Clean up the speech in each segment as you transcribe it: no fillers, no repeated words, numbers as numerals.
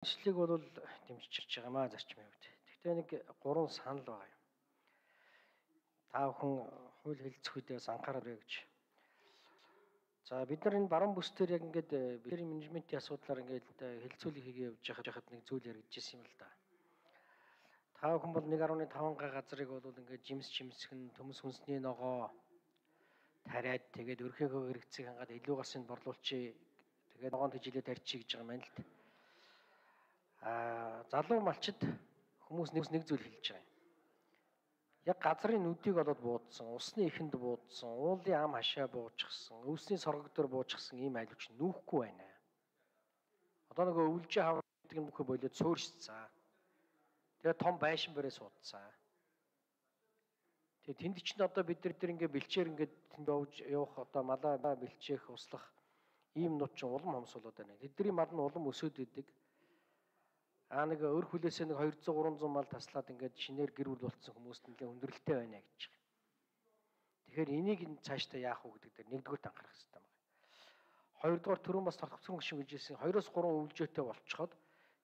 Шинжлэлийг бол дэмжиж байгаамаа зарчмын хувьд. Гэхдээ нэг 3 санал байгаа юм. Та бүхэн хууль хэлцэх үедээ анхаараарай гэж. За бид нар энэ баруун бүс дээр яг ингээд бидний менежментийн асуудлаар ингээд хэлцүүлэг хийгээ явж байхад нэг зүйл яригдчихсэн юм л да. Та бүхэн бол 1.5 га газрыг бол ингээд жимсгэн төмс хүнсний ногоо тариад тэгээд өрхөөгөө хэрэгцээг хангаад илүү гасын борлуулчих. Тэгээд ногоон тэжилээ тарьчих гэж байгаа юм байна л да. Залуу малчид хүмүүс нэг зүйл хэлж байгаа юм. Яг газрын нүдийг олоод буудсан, усны ихэнд буудсан, уулын ам хашаа буужчихсан, өвсний соргог дээр буужчихсан ийм айлвч нүүхгүй байна. Одоо нөгөө өвлжээ хавар гэдэг нь бүхэ болоод цөөршцээ. Тэгээ том байшин барээ суудсан. Тэгээ тэнд чинь одоо бид нар ингээ бэлчээр ингээд тэнд явах одоо малаа бэлчээх услах ийм нут чинь улам хомсуулаад байна. Тэдний мал нь улам өсөд идэг. Нэг өр хүлээсээ нэг 200-300 мал таслаад ингээд шинээр гэр бүл болцсон хүмүүст нэлээд хүндрэлтэй байна гэж байгаа. Тэгэхээр энийг цаашдаа яах вэ гэдэг дээр нэгдүгээр анхаарах хэрэгтэй байна. Хоёрдугаар түрүүн бас тогтцсон гүшин гэжсэн 2-3 өвлжөөтэй болцоход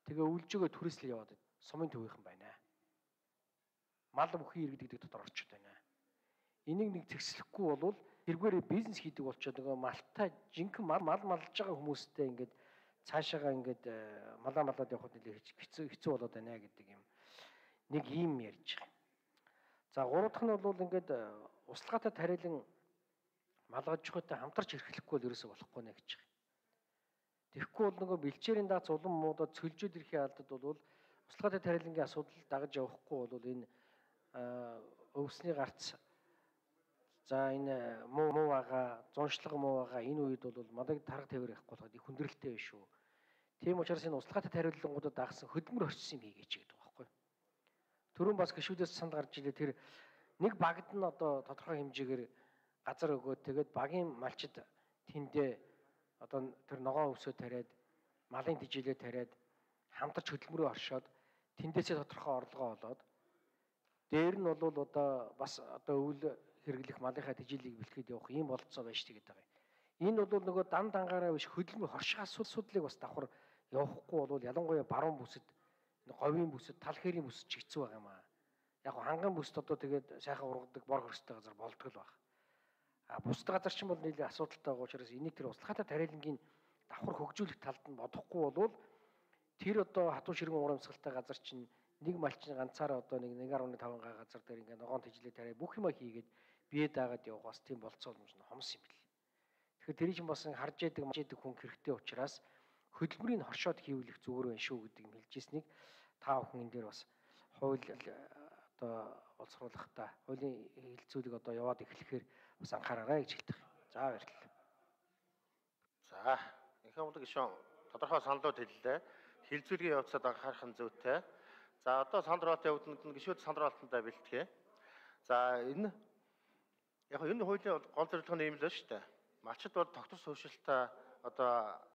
тэгээ өвлжөөгөө түрээслээ яваад сумын төвийнхэн байна. Мал бүхий иргэдэг дотор орчод байна. Энийг нэг зэгслэхгүй бол тэргээрээ бизнес хийдэг болчоод нөгөө малтай жинхэнэ мал малж байгаа хүмүүстэй ингээд цаашаага ингээд малаад явахд нэлээд хэцүү болоод байна гэдэг юм. Нэг ийм ярьж байгаа. За гурав дахь нь бол ингээд услахаатай тариалан малгаж жохотой хамтарч эрхлэхгүй бол ерөөсө болохгүй нэ гэж байгаа. Тэгэхгүй бол нөгөө бэлчээрийн дац улам муудад цөлжөөд ирэхээ алдад бол услахаатай тариалангийн асуудал дагаж явахгүй бол энэ өвсний гарц за энэ муу байгаа, зуншлага муу байгаа энэ үед бол малыг тарга тавир явахгүй болоход их хүндрэлтэй биш үү. Тийм учраас энэ услахаатай тариалангуудад дагсан хөдөлмөр орчсон юм хийгээч гэдэг байхгүй. Түрүүн бас гишүүдээс санд гарч илээ тэр нэг багт нь одоо тодорхой хэмжээгээр газар өгөөд тэгээд багийн малчид тэндээ одоо тэр ногоон өвсөө тариад малын тэжилээ тариад хамтарч хөдөлмөрөө оршоод тэндээсээ тодорхой орлогоо олоод дээр нь бол одоо бас одоо өвөл хэрэглэх малынхаа тэжилийг бэлтгэхэд явах ийм болцоо байж тэгээд байгаа юм. Энэ бол нөгөө дан дангаараа биш хөдөлмөр хорших асуудлыг бас давхар явахгүй бол ялангуяа баруун бүсэд говийн бүсэд тал хэрийн бүсэд ч хэцүү байгаа юм аа. Яг ханган бүсэд одоо тэгээд сайхан ургадаг бор хөрстэй газар болдог л баг. Бусад газар ч юм бол нэлээд асуудалтай байгаа учраас энийг тэр услахаатай тариалангийн давхар хөгжүүлэх талд нь бодохгүй бол тэр одоо хатуу ширгэн урамсгалтай газар чинь нэг малчин ганцаараа одоо нэг 1.5 га газар дээр ингээ ногоон тэжлээ тариа бүх юма хийгээд бие даагаад явах бас тийм болцоо юм шиг хомс юм бэл. Тэгэхээр тэр чинь бас харж яадаг хүн хэрэгтэй учраас хөдөлмөрийг хоршоод хийвлэх зүгээр байх шүү гэдэг юм хэлжсэнийг та бүхэн энэ дээр бас хууль одоо боловсруулахдаа хуулийн хэлцүүлэг одоо яваад эхлэхээр бас анхаараарай гэж хэлдэг. За баярлалаа. За энэхүү мундаг гишүүн тодорхой саналууд хэллээ. Хэлцүүлгийн явцад анхаарах нь зүйтэй. За одоо сандралтын өвдөнд гишүүд сандралтандаа бэлтгэе. За энэ яг энэ хуулийн гол зорилго нь юм л шүү дээ. Малчид бол тогтвор суурьшилтаа одоо